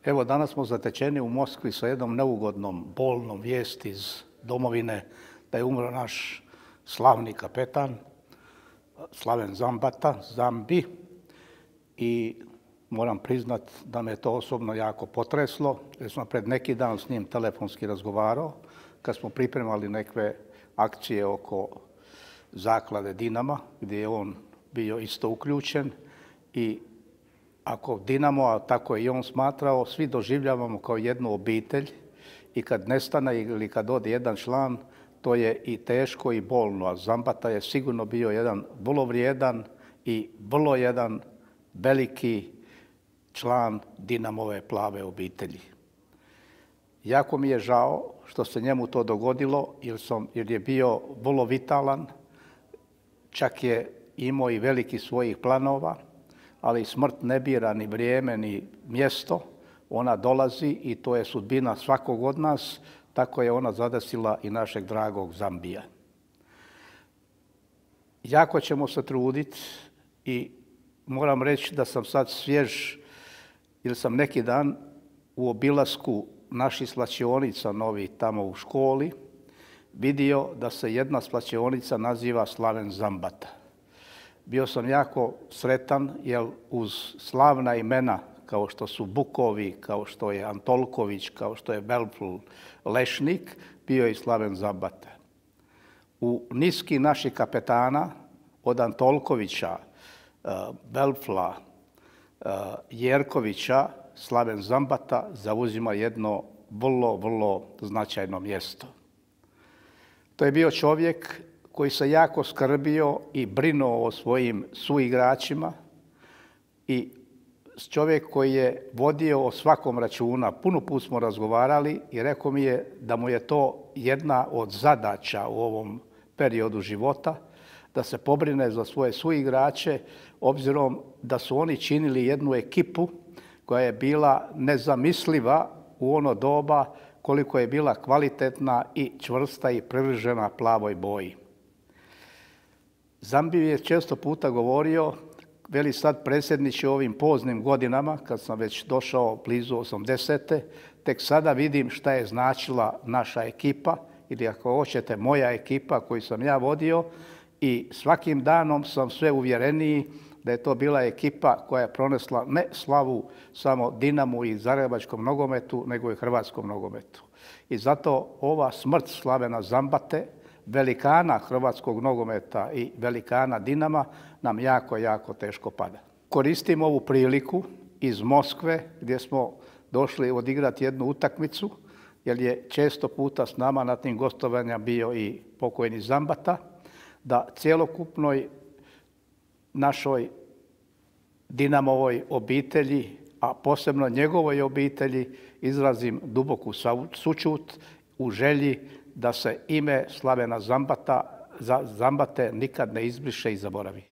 Evo, danas smo zatečeni u Moskvi sa jednom neugodnom, bolnom vijesti iz domovine da je umro naš slavni kapetan, Slaven Zambata, Zambi, i moram priznat da me to osobno jako potreslo, jer sam pred neki dan s njim telefonski razgovarao, kad smo pripremali neke akcije oko zaklade Dinama, gdje je on bio isto uključen, i ako Dinamo, a tako je i on smatrao, svi doživljavamo kao jednu obitelj i kad nestane ili kad ode jedan član, to je i teško i bolno, a Zambata je sigurno bio jedan vrlo vrijedan i vrlo jedan veliki član Dinamove plave obitelji. Jako mi je žao što se njemu to dogodilo, jer je bio vrlo vitalan, čak je imao i veliki svojih planova, ali smrt ne bira ni vrijeme ni mjesto, ona dolazi i to je sudbina svakog od nas, tako je ona zadesila i našeg dragog Zambija. Jako ćemo se truditi i moram reći da sam sad svjež, jer sam neki dan u obilasku naših svlačionica novih tamo u školi vidio da se jedna svlačionica naziva Slaven Zambata. Bio sam jako sretan jer uz slavna imena kao što su Bukovi, kao što je Antolković, kao što je Belfl Lešnik, bio je i Slaven Zambata. U niski naših kapetana od Antolkovića, Belfla, Jerkovića, Slaven Zambata zauzima jedno vrlo, vrlo značajno mjesto. To je bio čovjek koji se jako skrbio i brinuo o svojim suigračima i čovjek koji je vodio o svakom računa. Puno put smo razgovarali i rekao mi je da mu je to jedna od zadaća u ovom periodu života, da se pobrine za svoje suigrače, obzirom da su oni činili jednu ekipu koja je bila nezamisliva u ono doba koliko je bila kvalitetna i čvrsta i privržena plavoj boji. Zambi je često puta govorio, veli sad predsjedniče u ovim poznim godinama, kad sam već došao blizu 80. tek sada vidim šta je značila naša ekipa, ili ako hoćete moja ekipa koju sam ja vodio, i svakim danom sam sve uvjereniji da je to bila ekipa koja je pronesla ne slavu samo Dinamu i zagrebačkom nogometu, nego i hrvatskom nogometu. I zato ova smrt Slavena Zambate, velikana hrvatskog nogometa i velikana Dinama, nam jako, jako teško pada. Koristim ovu priliku iz Moskve gdje smo došli odigrati jednu utakmicu, jer je često puta s nama na tim gostovanjima bio i pokojni Zambata, da cjelokupnoj našoj Dinamovoj obitelji, a posebno njegovoj obitelji, izrazim duboku sućut u želji da se ime Slavena Zambate nikad ne izbriše i zaboravi.